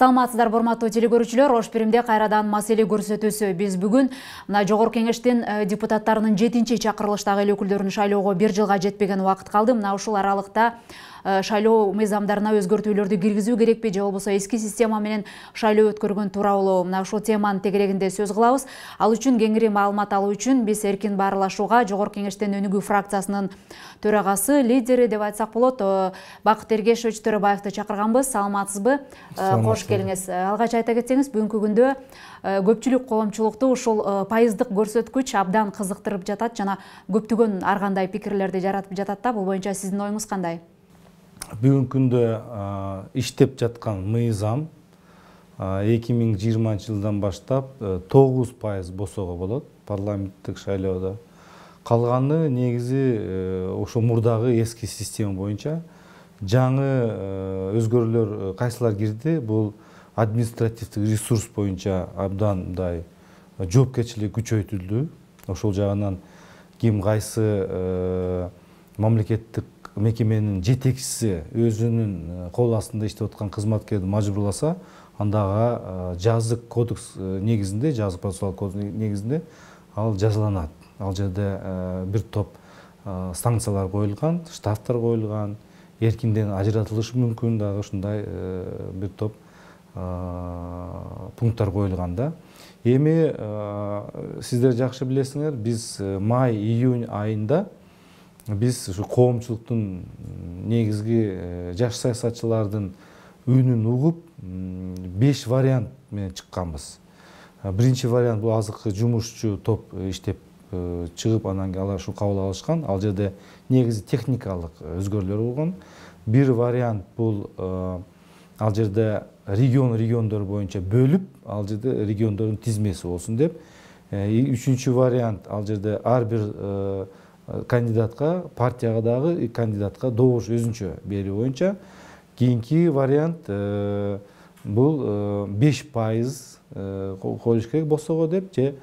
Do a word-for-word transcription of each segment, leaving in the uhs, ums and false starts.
Саламатсыздар урматтуу телекөрүүчүлөр, Ош Биримде кайрадан маселе көрсөтүүсү. Биз бүгүн мына Жогорку Кеңештин депутаттарынын жетинчи чакырылыштагы эл өкүлдөрүн шайлоого бир жылга жетпеген убакыт калды. Мына ушул аралыкта шайлоо мыйзамдарына өзгөртүүлөрдү киргизүү керекпи, же болбосо эски система менен шайлоо өткөргөн тууралуу мына ушул теманын тегерегинде сөз кылабыз. Ал үчүн кеңири маалымат алуу үчүн биз эркин баарлашууга Жогорку Кеңештин Өнүгүү фракциясынын төрагасы, лидери деп айтсак болот, Бакыт Эргешович Төрөбаевди чакырганбыз. Саламатсызбы? Кош келиңиз. Алгач айта кетсеңиз, бүгүнкү күндө көпчүлүк коомчулукту ушул пайыздык көрсөткүч абдан кызыктырып жатат жана көптөгөн ар кандай пикирлерди жаратып жатат да. Бул боюнча сиздин оюңуз кандай? Бүгүнкү күндө иштеп жаткан мыйзам эки миң жыйырманчы жылдан баштап тогуз пайыз босого болот парламенттик шайлоодо. Калганы негизи ошо мурдагы эски система боюнча. Жаңы өзгөрүүлөр кайсылар кирди? Бул административдик ресурс боюнча абдан мындай жоопкерчилик күчөйтүлдү. Ошол жагынан ким кайсы мамлекеттик мекеменин жетекчиси өзүнүн кол астында иштеп аткан кызматкерди мажбурласа, андага жазык кодекс негизинде, жазык процессуалдык кодекс негизинде ал жазаланат. Ал жерде бир топ санкциялар коюлган, штрафтар коюлган, эркинден ажыратылышы мүмкүн дагы ушундай бир топ пункттар коюлган да. Эми сиздер жакшы билесиңер, биз май-июнь айында биз ушу коомчулуктун негизги жаш саясатчылардын үнүн угуп беш вариант менен чыкканбыз. Биринчи вариант бул азыркы жумушчу топ иштеп чыгып, анан кийин алар ушу кабыл алышкан. Ал жерде негизи техникалык өзгөрүүлөр болгон. Бир вариант бул ал жерде регион региондор боюнча бөлүп, ал жерде региондордун тизмеси болсун деп. Үчүнчү вариант ал жерде ар бир кандидатка, партияга дагы кандидатка добуш өзүнчө берүү боюнча. Кийинки вариант бул беш пайыз коюш керек босого деп, же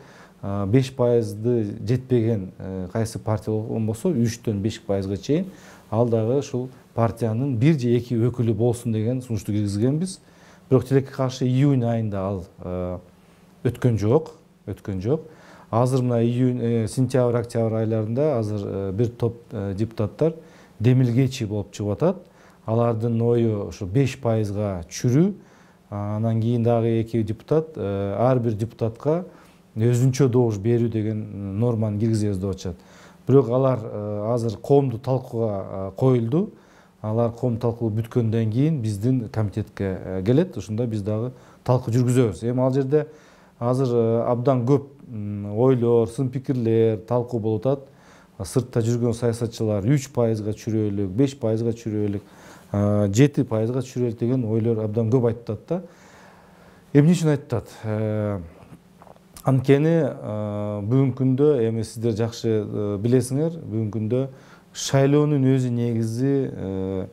беш пайызды жетпеген кайсы партия болгон болсо үчтөн беш пайызга чейин ал дагы ушул партиянын бир же эки өкүлү болсун деген сунушту киргизгенбиз. Бирок тилекке каршы июнь айында ал өткөн жок, өткөн жок. Азыр мына июнь, сентябрь, октябрь айларында азыр бир топ депутаттар демилгечи болуп чыгып атат. Алардын ою ошо беш пайызга чүрүү. Анан кийин дагы эки депутат ар бир депутатка өзүнчө добуш берүү деген норманы киргизебиз деп атышат. Бирок алар азыр коомдук талкууга коюлду. Алар коомдук талкуу бүткөндөн кийин биздин комитетке келет. Ошондо биз дагы талкуу жүргүзөбүз. Эми ал жерде азыр абдан көп ойлор, сын пикирлер талкуу болуп атат. Сыртта жүргөн саясатчылар үч пайызга чүрөөлүк, беш пайызга чүрөөлүк, жети пайызга чүрөөлүк деген ойлор абдан көп айтып атат да. Эмне үчүн айтып атат? Анткени бүгүнкү күндө, эми сиздер жакшы билесиңер, бүгүнкү күндө шайлоонун өзү негизи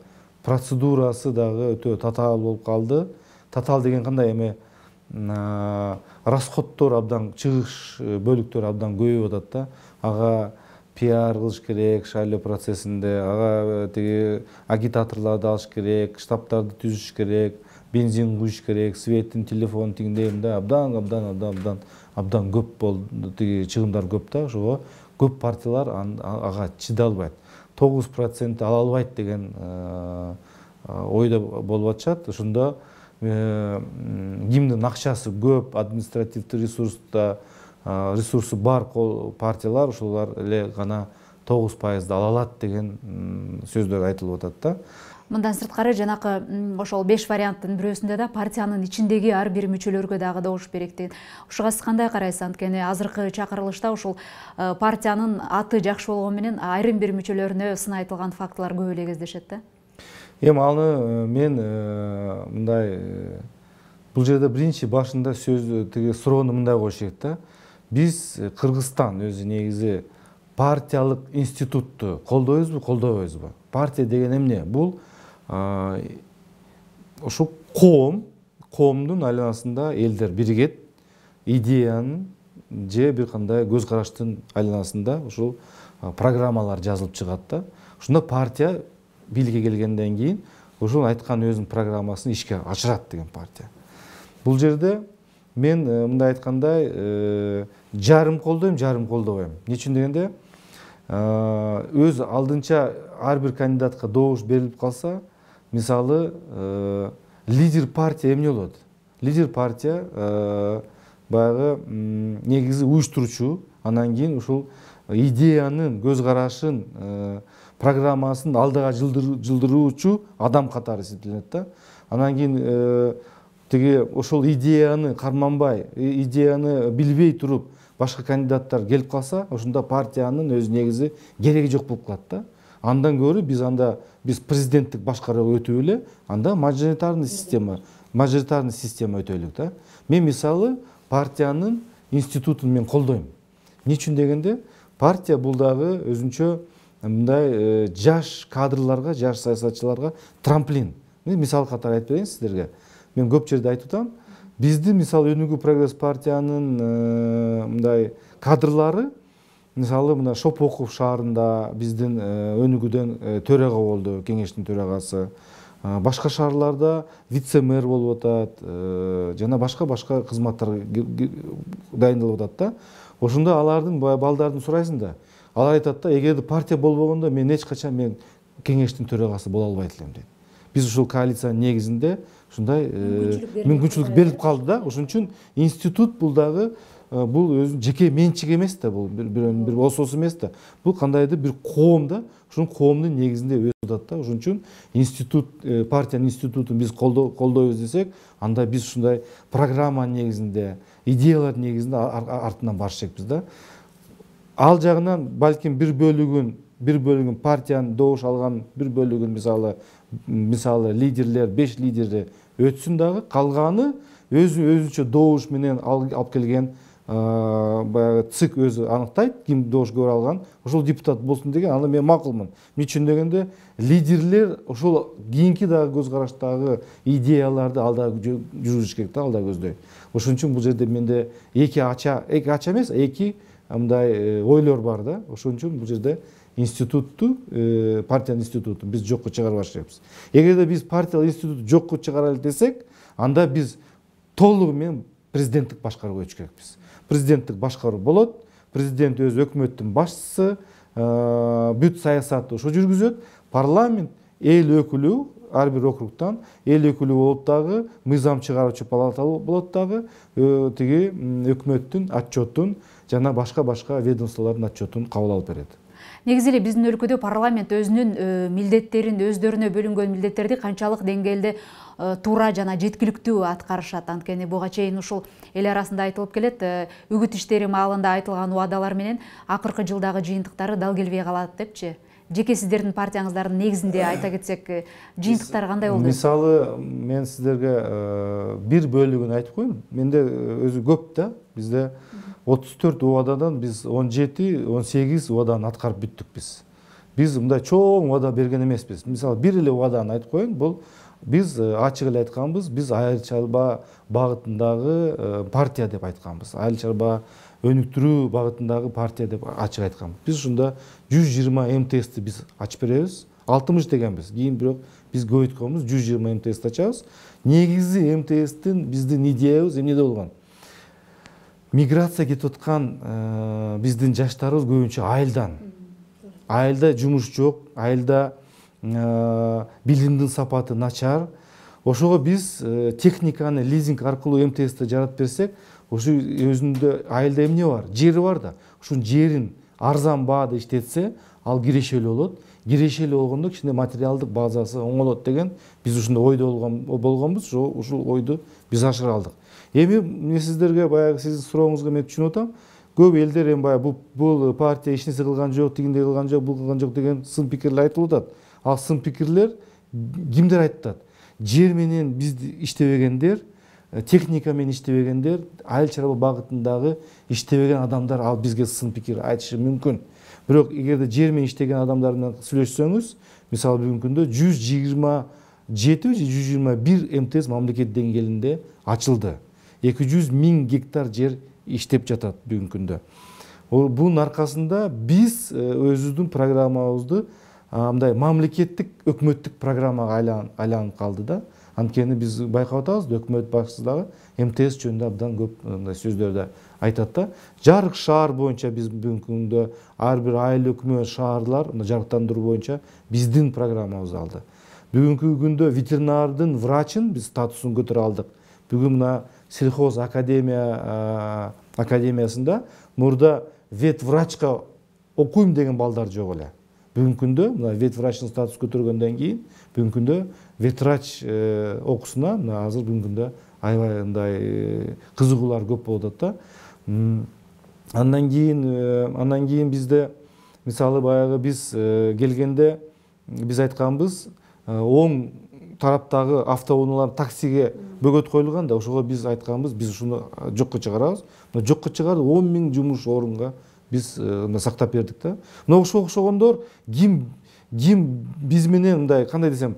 процедурасы дагы өтө татаал болуп калды. Татаал деген кандай? Эми расходдор абдан, чыгыш бөлүктөр абдан көбөйүп атат да. Ага пиар кылыш керек шайлоо процессинде, ага тиги агитаторлорду алыш керек, штабтарды түзүш керек, бензин куюш керек, светтин, телефон тигиндейм да, абдан абдан абдан абдан абдан көп болду, тиги чыгымдар көп да. Ошого көп партиялар ага чыдай албайт. тогуз процент ала албайт деген ойдо болуп атышат. Ошондо кимдин акчасы көп, административдик ресурста ресурсу бар партиялар ошолор эле гана тогуз пайызды ала алат деген сөздөр айтылып атат да. Мындан сырткары жанакы ошол беш варианттын бирөөсүндө да партиянын ичиндеги ар бир мүчөлөргө дагы добуш керек деген. Ушуга сиз кандай карайсыз? Анткени азыркы чакырылышта ушул партиянын аты жакшы болгону менен айрым бир мүчөлөрүнө сын айтылган фактылар көп эле кездешет да. Эми аны мен мындай, бул жерде биринчи башында сөз тиги суроону мындай коюш керек да. Биз Кыргызстан өзү негизи партиялык институтту колдойбузбу, колдобойбузбу? Партия деген эмне? Бул ошо коом, коомдун айланасында элдер биригет, идеянын же бир кандай көз караштын айланасында ушул программалар жазылып чыгат да. Ошондо партия бийликке келгенден кийин ошол айткан өзүнүн программасын ишке ашырат деген партия. бул жерде мен мындай айткандай жарым колдойм, жарым колдобойм. Эмне үчүн дегенде, өз алдынча ар бир кандидатка добуш берилип калса, мисалы лидер партия эмне болот? Лидер партия баягы негизи уюштуруучу, анан кийин ушул идеянын, көз карашын, программасын алдыга жылдыруучу адам катары эсептелет да. Анан кийин тиги ошол идеяны карманбай, идеяны билбей туруп башка кандидаттар келип калса, ошондо партиянын өз негизи кереги жок болуп калат да. Андан көрү биз анда биз президенттик башкарууга өтүп эле, анда мажоритарный система, мажоритарный система өтөлүк да. Мен мисалы партиянын институтун мен колдойм. Эмне үчүн дегенде, партия бул дагы өзүнчө мындай жаш кадрларга, жаш саясатчыларга трамплин. Мен мисал катары айтып берейин сиздерге. Мен көп жерде айтып атам, биздин мисалы Өнүгүү прогресс партиянын мындай кадрлары, мисалы мына Шопоков шаарында биздин Өнүгүүдөн төрага болду, кеңештин төрагасы. Башка шаарларда вице-мэр болуп атат, жана башка-башка кызматтарга дайындалып атат да. Ошондо алардын балдарын сурайсың да. Алар айтат да, эгерде партия болбогондо мен эч качан мен кеңештин төрагасы боло албайт элем дейт. Биз ушул коалициянын негизинде ушундай мүмкүнчүлүк берилип калды да. Ошон үчүн институт бул дагы бул өзүнүн жеке менчиги эмес да, бул бирөөнүн бир ососу эмес да. Бул кандайдыр бир коом да. Ушул коомдун негизинде өсүп атат да. Ошон үчүн институт, партиянын институтун биз колдойбуз десек, анда биз ушундай программанын негизинде, идеялардын негизинде артынан барыш керекпиз да. Ал жагынан балким бир бөлүгүн, бир бөлүгүн партиянын добуш алган бир бөлүгүн мисалы мисалы лидерлер, беш лидери өтсүн дагы, калганы өзү өзүнчө добуш менен алып келген баягы ЦИК өзү аныктайт, ким добуш көп алган, ошол депутат болсун деген, аны мен макулмун. Эмне үчүн дегенде, лидерлер ошол кийинки дагы көз караштагы идеяларды алда жүргүзүш керек да, алда көздөй. Ошон үчүн бул жерде менде эки ача, эки ача эмес, эки мындай ойлор бар да. Ошон үчүн бул жерде институтту, партиянын институтун биз жокко чыгарбаш керекпиз. Эгерде биз партиялык институту жокко чыгаралы десек, анда биз толугу менен президенттик башкарууга өтүш керекпиз. Президенттик башкаруу болот, президент өз өкмөттүн башчысы, бүт саясатты ошо жүргүзөт, парламент эл өкүлү, ар бир округтан эл өкүлү болуп дагы, мыйзам чыгаруучу палата болот дагы, тиги өкмөттүн отчетун жана башка-башка ведомстволордун отчетун кабыл алып берет. Негизи эле биздин өлкөдө парламент өзүнүн милдеттерин, өздөрүнө бөлүнгөн милдеттерди канчалык деңгээлде туура жана жеткиликтүү аткарышат. Анткени буга чейин ушул эл арасында айтылып келет, үгүт иштери маалында айтылган убадалар менен акыркы жылдагы жыйынтыктары дал келбей калат депчи. Жеке сиздердин партияңыздардын негизинде айта кетсек, жыйынтыктар кандай болду? Мисалы, мен сиздерге бир бөлүгүн айтып коеюн. Менде өзү көп да. Бизде отуз төрт убададан биз он жети, он сегиз убаданы аткарып бүттүк биз. Биз мындай чоң убада берген эмеспиз. Мисалы, бир эле убаданы айтып коеюн. Бул биз ачык эле айтканбыз, биз айыл чарба багытындагы партия деп айтканбыз. Айыл чарба өнүктүрүү багытындагы партия деп ачык айтканбыз. Биз ушунда жүз жыйырма МТСти биз ачып беребиз. алтымыш дегенбиз. Кийин бирок биз көбөйткөнбүз, жүз жыйырма МТСти ачабыз. Негизи МТСтин биздин идеябыз эмнеде болгон? Миграция кетип аткан биздин жаштарыбыз көбүнчө айылдан. Айылда жумуш жок, айылда билимдин сапаты начар. Ошого биз техниканы лизинг аркылуу МТСти жаратып берсек, ошо өзүндө айылда эмне бар? Жери бар да. Ушун жерин арзан баада иштетсе, ал кирешелүү болот. Кирешелүү болгондо кичине материалдык базасы оңолот деген биз ушундай ойдо болгонбуз. Ушул ойду биз ашыра алдык. Эми мен сиздерге баягы сиздин сурооңузга мен түшүнүп атам. Көп элдер эми баягы бул партия эч нерсе кылган жок, тигиндей кылган жок, бул кылган жок деген сын пикирлер айтылып атат. Ал сын пикирлер кимдер айтат? Жер менен бизди иштебегендер, техника менен иштебегендер, айыл чарба багытындагы иштебеген адамдар ал бизге сын пикир айтышы мүмкүн. Бирок эгерде жер менен иштеген адамдар менен сүйлөшсөңүз, мисалы бүгүнкү күндө жүз жыйырма жети же жүз жыйырма бир МТС мамлекет деңгээлинде ачылды. эки жүз миң гектар жер иштеп жатат бүгүнкү күндө. Бунун аркасында биз өзүбүздүн программабызды мындай мамлекеттик өкмөттүк программага айланып калды да. Анткени биз байкап атабыз, өкмөт башчысы дагы МТС жөнүндө абдан көп мындай сөздөрдө айтат да. Жарык шаар боюнча биз бүгүнкү күндө ар бир айыл өкмөт шаарлар жарыктандыруу боюнча биздин программабызды алды. Бүгүнкү күндө ветеринардын врачын биз статусун көтөрө алдык. Бүгүн мына сельхоз академия академиясында мурда вет врачка окуйм деген балдар жок эле. Бүгүнкү күндө мына вет врачтын статусун көтөргөндөн кийин бүгүнкү күндө вет врач окуусуна мына азыр бүгүнкү күндө аябай мындай кызыгуулар көп болуп атат да. Андан кийин андан кийин бизде мисалы баягы биз келгенде биз айтканбыз оң тараптагы автоунаалар таксиге бөгөт коюлган да, ошого биз айтканбыз, биз ушуну жокко чыгарабыз. Мына жокко чыгарып он миң жумуш орунга биз мына сактап бердик да. Мына ошого окшогондор ким ким биз менен мындай кандай десем,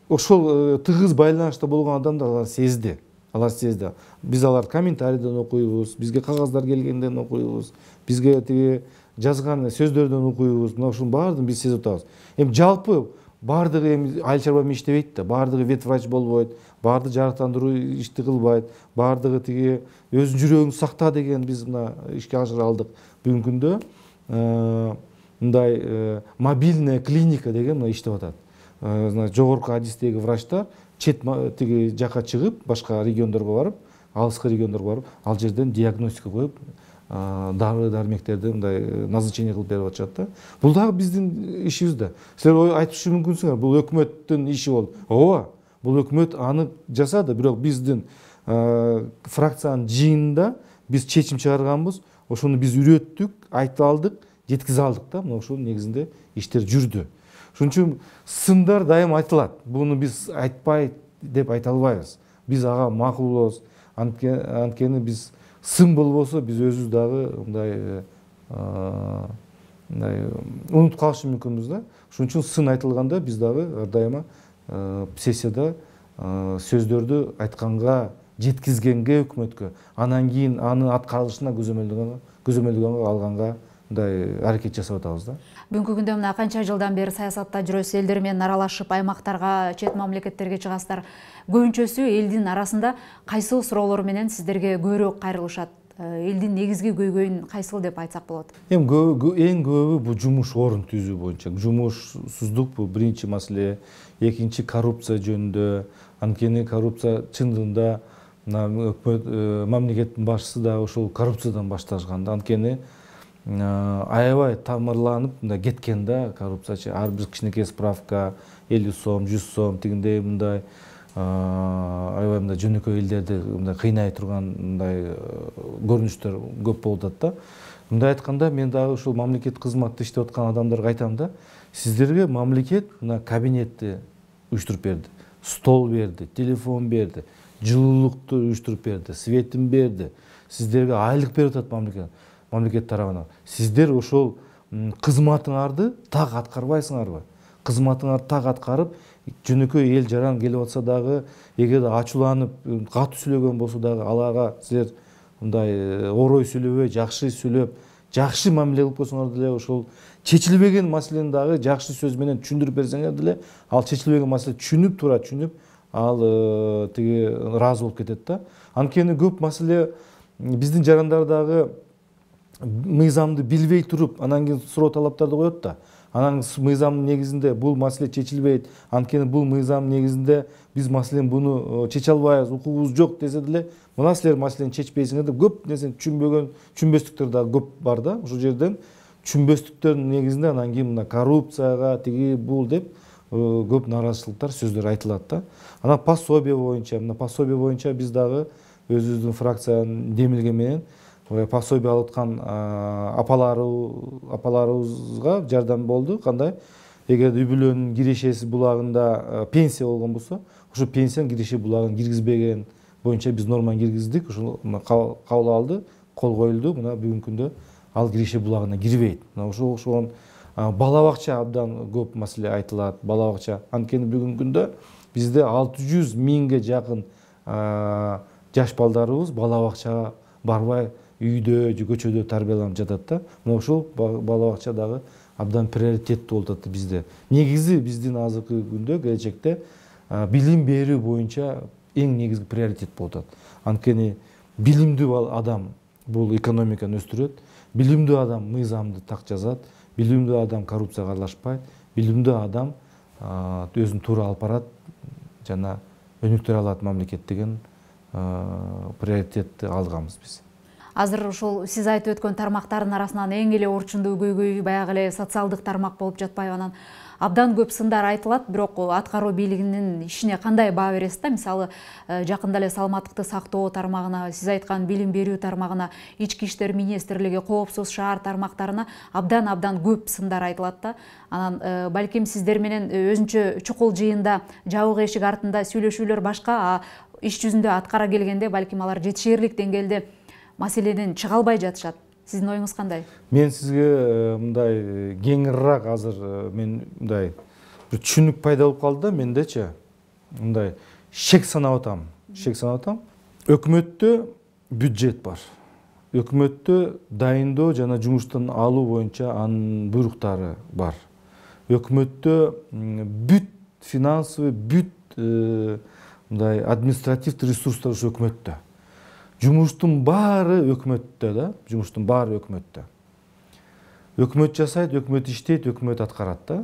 ошол тыгыз байланышта болгон адамдар алар сезди. Алар сезди. Биз алар комментарийден окуйбуз, бизге кагаздар келгенден окуйбуз, бизге тиги жазган сөздөрдөн окуйбуз. Мына ушунун баардыгын биз сезип атабыз. Эми жалпы баардыгы эми айыл чарба менен иштебейт да, баардыгы вет врач болбойт, баардыгы жарыктандыруу ишти кылбайт, баардыгы тиги өзүнүн жүрөгүн сакта деген биз мына ишке ашыра алдык. Бүгүнкү күндө мындай мобильная клиника деген мына иштеп атат. Жогорку адистеги врачтар чет тиги жака чыгып, башка региондорго барып, алыскы региондорго барып, ал жерден диагностика коюп, дары дармектерди мындай назначение кылып берип атышат да. Бул дагы биздин ишибиз да. Силер айтышы мүмкүнсүңөр, бул өкмөттүн иши болду. Ооба, бул өкмөт аны жасады, бирок биздин фракциянын жыйынында биз чечим чыгарганбыз. Ошону биз үйрөттүк, айта алдык, жеткизе алдык да. Мына ошонун негизинде иштер жүрдү. Ошон үчүн сындар дайым айтылат. Буну биз айтпай деп айта албайбыз. Биз ага макул болобуз. Анткени биз сын болбосо биз өзүбүз дагы мындай мындай унутуп калышы мүмкүнбүз да. Ошон үчүн сын айтылганда биз дагы ар дайыма сессияда сөздөрдү айтканга, жеткизгенге өкмөткө, анан кийин анын аткарылышына көзөмөлдөгөнгө алганга мындай аракет жасап атабыз да. Бүгүнкү күндө мына канча жылдан бери саясатта жүрөсүз, элдер менен аралашып, аймактарга, чет мамлекеттерге чыгасыздар. Көбүнчөсү элдин арасында кайсыл суроолор менен сиздерге көбүрөөк кайрылышат? Элдин негизги көйгөйүн кайсыл деп айтсак болот? Эми эң көбү бул жумуш орун түзүү боюнча. Жумушсуздук бул биринчи маселе. Экинчи коррупция жөнүндө. Анткени коррупция чындыгында өкмөт мамлекеттин башчысы да ошол коррупциядан башташкан да. Анткени аябай тамырланып кеткен да коррупциячы. Ар бир кичинекей справка элүү сом, жүз сом тигиндей мындай аябай мындай жөнөкөй элдерди мындай кыйнай турган мындай көрүнүштөр көп болуп атат да. Мындай айтканда мен дагы ушул мамлекет кызматта иштеп аткан адамдарга айтам да, сиздерге мамлекет мына кабинетти уюштуруп берди, стол берди, телефон берди, жылуулукту уюштуруп берди, светин берди. Сиздерге айлык берип атат мамлекет. Мамлекет тарабынан. Сиздер ошол кызматыңарды так аткарбайсыңарбы? Кызматыңарды так аткарып, жөнөкөй эл жаран келип атса дагы, эгерде ачууланып, катуу сүйлөгөн болсо дагы аларга силер мындай орой сүйлөбөй, жакшы сүйлөп, жакшы мамиле кылып койсоңор деле ошол чечилбеген маселени дагы жакшы сөз менен түшүндүрүп берсеңер деле, ал чечилбеген маселе түшүнүп тура түшүнүп, ал тиги ыраазы болуп кетет да. Анткени көп маселе биздин жарандар дагы мыйзамды билбей туруп, анан кийин суроо талаптарды коет да. Анан мыйзамдын негизинде бул маселе чечилбейт. Анткени бул мыйзамдын негизинде биз маселени буну чече албайбыз, укугубуз жок десе деле, мына силер маселени чечпейсиңер деп көп нерсени түшүнбөгөн, түшүнбөстүктөр да көп бар да. Ошол жерден түшүнбөстүктөрдүн негизинде анан кийин мына коррупцияга тиги бул деп көп нааразычылыктар, сөздөр айтылат да. Анан пособие боюнча, мына пособие боюнча биз дагы өзүбүздүн фракциянын демилге менен пособие алып аткан апаларыбызга жардам болду. Кандай? Эгер үй бүлөнүн кирешеси булагында пенсия болгон болсо, ошо пенсиянын киреше булагын киргизбеген боюнча биз норманы киргиздик. Ошол кабыл алды, кол коюлду. Мына бүгүнкү күндө ал киреше булагына кирбейт. Мына ошол ошон бала бакча абдан көп маселе айтылат. Бала бакча. Анткени бүгүнкү күндө бизде алты жүз миңге жакын жаш балдарыбыз бала бакчага барбай үйдө же көчөдө тарбияланып жатат да. Мына ошол бала бакча дагы абдан приоритеттүү болуп атат бизде. Негизи биздин азыркы күндө келечекте билим берүү боюнча эң негизги приоритет болуп атат. Анткени билимдүү адам бул экономиканы өстүрөт, билимдүү адам мыйзамды так жазат, билимдүү адам коррупцияга аралашпайт, билимдүү адам өзүн туура алып барат жана өнүктүрө алат мамлекет деген приоритетти алганбыз биз. Азыр ушул сиз айтып өткөн тармактардын арасынан эң эле орчундуу көйгөй баягы эле социалдык тармак болуп жатпайбы? Анан абдан көп сындар айтылат, бирок аткаруу бийлигинин ишине кандай баа бересиз да? Мисалы, жакында эле саламаттыкты сактоо тармагына, сиз айткан билим берүү тармагына, ички иштер министрлиги, коопсуз шаар тармактарына абдан абдан көп сындар айтылат да. Анан балким сиздер менен өзүнчө чукул жыйында жабык эшик артында сүйлөшүүлөр башка, а иш жүзүндө аткара келгенде балким алар жетишээрлик деңгээлде маселеден чыга албай жатышат. Сиздин оюңуз кандай? Мен сизге мындай кеңирээк азыр мен мындай бир түшүнүк пайда болуп калды да мендечи. Мындай шек санап атам. Шек санап атам. Өкмөттө бюджет бар. Өкмөттө дайындоо жана жумуштан алуу боюнча анын буйруктары бар. Өкмөттө бүт финансовый, бүт мындай административдик ресурстар ушу өкмөттө. Жумуштун баары өкмөттө да, жумуштун баары өкмөттө. Өкмөт жасайт, өкмөт иштейт, өкмөт аткарат да.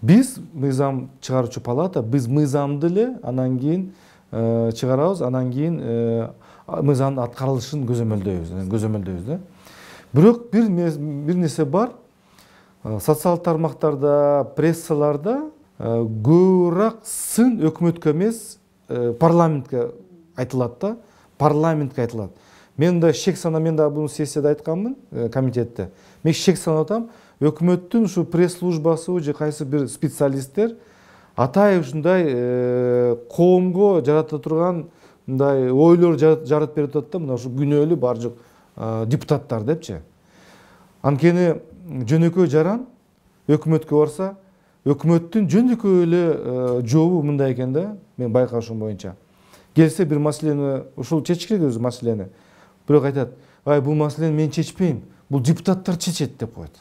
Биз мыйзам чыгаруучу палата, биз мыйзамды эле анан кийин чыгарабыз, анан кийин мыйзамдын аткарылышын көзөмөлдөйбүз, көзөмөлдөйбүз да. Бирок бир бир нерсе бар. Социалдык тармактарда, прессаларда көбүрөөк сын өкмөткө эмес, парламентке айтылат да. Парламентке айтылат. Мен да шек санап, мен да буну сессияда айтканмын, комитетте. Мен шек санап атам, өкмөттүн ушу пресс-службасы же кайсы бир специалисттер атайын ушундай коомго жарата турган мындай ойлор жаратып берип атат да, мына ушу күнөөлүү бар жок депутаттар депчи. Анткени жөнөкөй жаран өкмөткө барса, өкмөттүн жөнөкөй эле жообу мындай экен да, мен байкашым боюнча. Келсе бир маселени, ушул чечиш керек өзү маселени. Бирок айтат, ай бул маселени мен чечпейм, бул депутаттар чечет деп коет.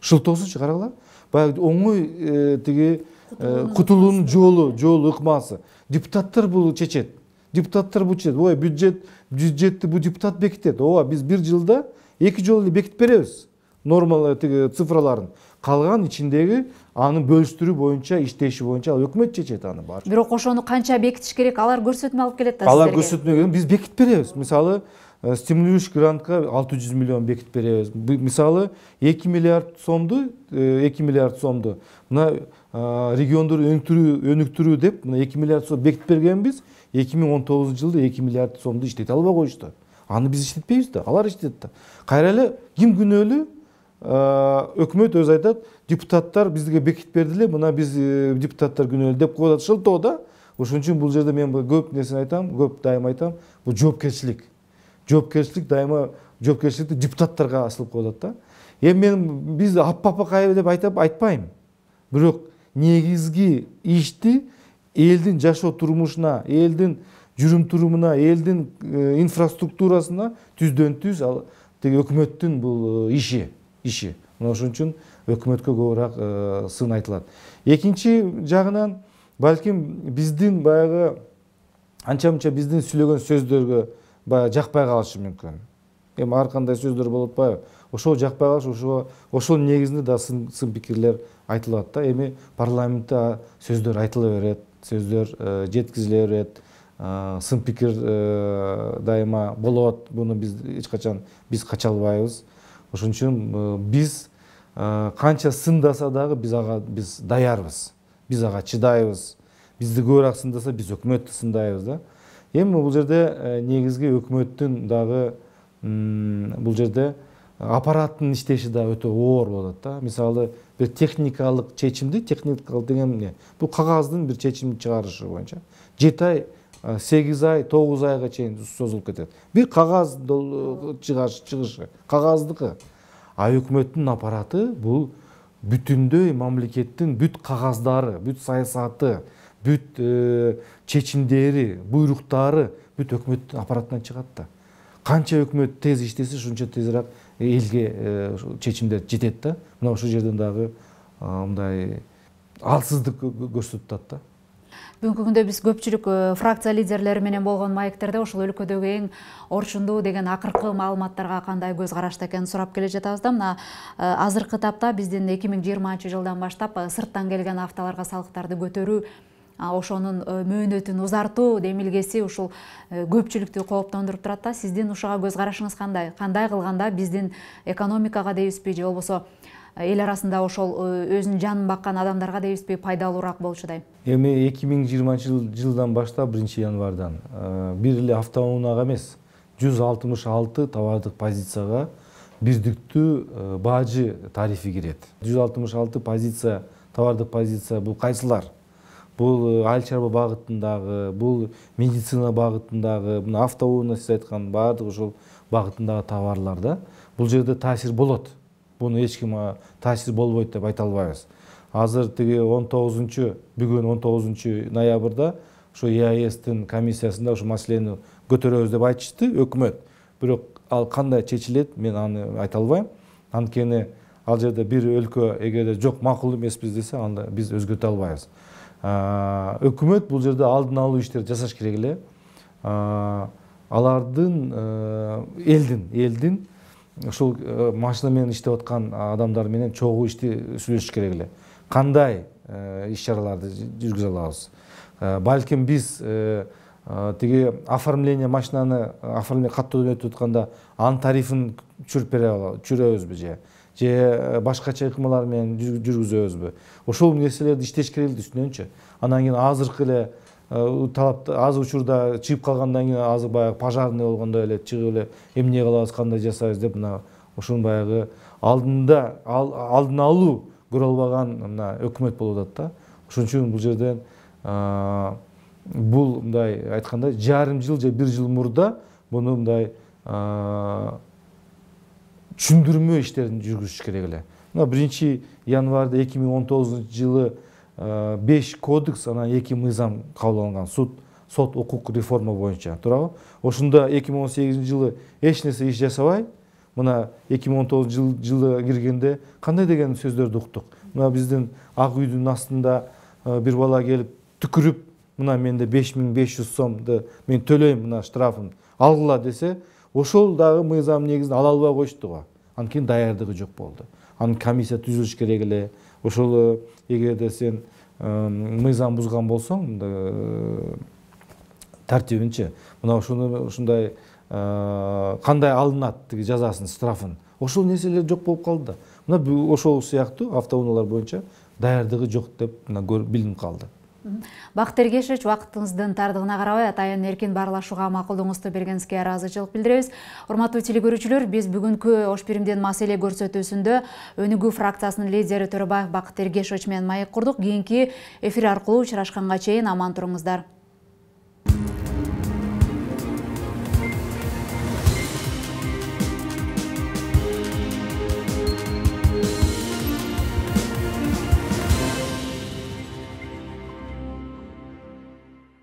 Шылтоосучу карагыла. Баягы оңой тиги кутулуунун жолу, жолу ыкмасы. Депутаттар бул чечет. Депутаттар бул чечет. Ой, бюджет, бюджетти бул депутат бекитет. Ооба, биз бир жылда эки жолу эле бекитип беребиз. Нормалар тиги цифраларын. Калган ичиндеги аны бөлүштүрүү боюнча, иштеши боюнча өкмөт чечет аны баары. Бирок ошону канча бекитиш керек, алар көрсөтмө алып келет да сиздерге. Алар көрсөтмө керек, биз бекитип беребиз. Мисалы, стимулирующий грантка алты жүз миллион бекитип беребиз. Мисалы, эки миллиард сомду, эки миллиард сомду мына региондорду өнүктүрүү, өнүктүрүү деп мына эки миллиард сом бекитип бергенбиз. эки миң он тогузунчу жылда эки миллиард сомду иштете албай коюшту. Аны биз иштетпейбиз да, алар иштетет да. Кайра эле ким күнөөлүү? Өкмөт өзү айтат, депутаттар бизге бекитип берди эле, мына биз депутаттар күнөөлүү деп коет шылтоо да. Ошон үчүн бул жерде мен көп нерсени айтам, көп дайыма айтам, бул жоопкерчилик. Жоопкерчилик дайыма жоопкерчиликти депутаттарга асылып коет да. Эми мен биз аппапа кайбы деп айтап айтпайм. Бирок негизги ишти элдин жашоо турмушуна, элдин жүрүм турумуна, элдин инфраструктурасына түздөн түз ал теги өкмөттүн бул иши. иши. Мына ошон үчүн өкмөткө көбүрөөк сын айтылат. Экинчи жагынан балким биздин баягы анча-мынча биздин сүйлөгөн сөздөргө баягы жакпай калышы мүмкүн. Эми ар кандай сөздөр болуп атпайбы? Ошол жакпай калыш, ошо ошол негизинде да сын сын пикирлер айтылат да. Эми парламентте сөздөр айтыла берет, сөздөр жеткизиле берет, сын пикир дайыма болот. Буну биз эч качан биз кача албайбыз. Ошон үчүн биз канча сындаса дагы биз ага биз даярбыз. Биз ага чыдайбыз. Бизди көбүрөөк сындаса биз өкмөттү сындайбыз да. Эми бул жерде негизги өкмөттүн дагы бул жерде аппараттын иштеши да өтө оор болот да. Мисалы бир техникалык чечимди, техникалык деген эмне? Бул кагаздын бир чечим чыгарышы боюнча жети ай, сегиз ай, тогуз айга чейин созулуп кетет. Бир кагаз чыгышы, кагаздыкы. А өкмөттүн аппараты бул бүтүндөй мамлекеттин бүт кагаздары, бүт саясаты, бүт чечимдери, буйруктары бүт өкмөттүн аппаратынан чыгат да. Канча өкмөт тез иштесе, ушунча тезирээк элге чечимдер жетет да. Мына ошол жерден дагы мындай алсыздык көрсөтүп атат да. Бүгүнкү күндө биз көпчүлүк фракция лидерлери менен болгон маектерде ошол өлкөдөгү эң орчундуу деген акыркы маалыматтарга кандай көз карашта экенин сурап келе жатабыз да. Мына азыркы этапта биздин эки миң жыйырманчы жылдан баштап сырттан келген автолорго салыктарды көтөрүү, ошонун мөөнөтүн узартуу демилгеси ушул көпчүлүктү кооптондуруп турат да. Сиздин ушуга көз карашыңыз кандай? Кандай кылганда биздин экономикага дейбизби же болбосо эл арасында ошол өзүнүн жанын баккан адамдарга дейбизби пайдалуураак болчудай? Эми эки миң жыйырманчы жылдан баштап биринчи январдан бир эле автоунаага эмес, жүз алтымыш алты товардык позицияга бирдиктүү баажы тарифи кирет. жүз алтымыш алты позиция, товардык позиция бул кайсылар? Бул айыл чарба багытындагы, бул медицина багытындагы, мына автоунаа сиз айткан баардык ошол багытындагы товарлар да. Бул жерде таасир болот. Буну эч ким таасир болбойт деп айта албайбыз. Азыр тиги он тогузунчу бүгүн он тогузунчу ноябрда ошо и а эстин комиссиясында ошол маселени көтөрөбүз деп айтышты өкмөт. Бирок ал кандай чечилет, мен аны айта албайм. Анткени ал жерде бир өлкө эгерде жок макул эмеспиз десе, анда биз өзгөртө албайбыз. Өкмөт бул жерде алдын алуу иштерди жасаш керек эле. Алардын элдин элдин ушул машина менен иштеп аткан адамдар менен чогуу ишти сүйлөшүш керек эле. Кандай иш чараларды жүргүзө алабыз? Балким биз тиги оформление машинаны оформление каттоодон өтүп атканда анын тарифин түшүрүп бере алабыз, түшүрөбүзбү же же башкача ыкмалар менен жүргүзөбүзбү? Ошол нерселерди иштеш керек эле үстүнөнчү. Андан кийин азыркы эле талапты аз учурда чыгып калгандан кийин азыр баягы пожарный болгондой эле чыгып эле эмне кылабыз, кандай жасайбыз деп мына ушунун баягы алдында алдын алуу көрө албаган мына өкмөт болуп атат да. Ошон үчүн бул жерден бул мындай айтканда жарым жыл же бир жыл мурда буну мындай түшүндүрмө иштерин жүргүзүш керек эле. Мына биринчи январда эки миң он тогузунчу жылы беш кодекс, анан эки мыйзам кабыл алынган, суд сот укук реформа боюнча, туурабы? Ошондо эки миң он сегизинчи жылы эч нерсе иш жасабай, мына эки миң он тогузунчу жылы киргенде кандай деген сөздөрдү уктук. Мына биздин ак үйдүн астында бир бала келип түкүрүп, мына менде беш миң беш жүз сомду мен төлөйм, мына штрафын алгыла десе, ошол дагы мыйзам негизинде ала албай коюшту го. Анткени даярдыгы жок болду. Анын комиссия түзүлүш керек эле. Ошол эгерде сен мыйзам бузган болсоң, тартибинчи, мына ушуну ушундай кандай алынат тиги жазасын, штрафын. Ошол нерселер жок болуп калды да. Мына ошол сыяктуу автоунаалар боюнча даярдыгы жок деп билинип калды. Бакыт Эргешевич, убактыңыздын тардыгына карабай атайын эркин баарлашууга макулдугуңузду бергениңизге ыраазычылык билдиребиз. Урматтуу телекөрүүчүлөр, биз бүгүнкү Ош Биримдин маселе көрсөтүүсүндө Өнүгүү фракциясынын лидери Төрөбаев Бакыт Эргешевич менен маек курдук. Кийинки эфир аркылуу учурашканга чейин аман туруңуздар.